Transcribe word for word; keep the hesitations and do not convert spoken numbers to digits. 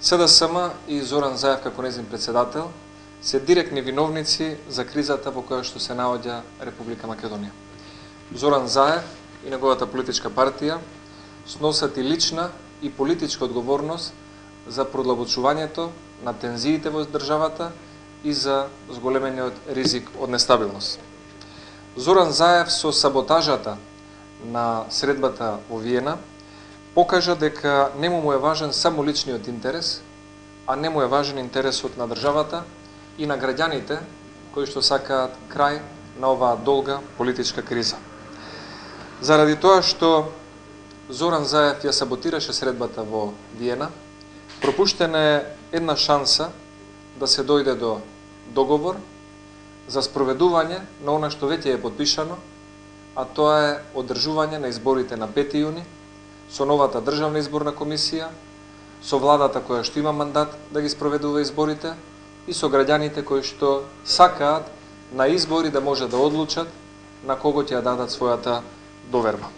С Д С М и Зоран Заев како нејзин председател се директни виновници за кризата во која што се наоѓа Република Македонија. Зоран Заев и неговата политичка партија сносат и лична и политичка одговорност за продлабочувањето на тензиите во државата и за зголемениот ризик од нестабилност. Зоран Заев со саботажата на средбата во Виена покажа дека не му е важен само личниот интерес, а не му е важен интересот на државата и на граѓаните кои што сакаат крај на оваа долга политичка криза. Заради тоа што Зоран Заев ја саботираше средбата во Виена, пропуштена е една шанса да се дојде до договор за спроведување на она што веќе е подпишано, а тоа е одржување на изборите на пети јуни со новата државна изборна комисија, со владата која што има мандат да ги спроведува изборите и со граѓаните кои што сакаат на избори да може да одлучат на кого ќе ја дадат својата доверба.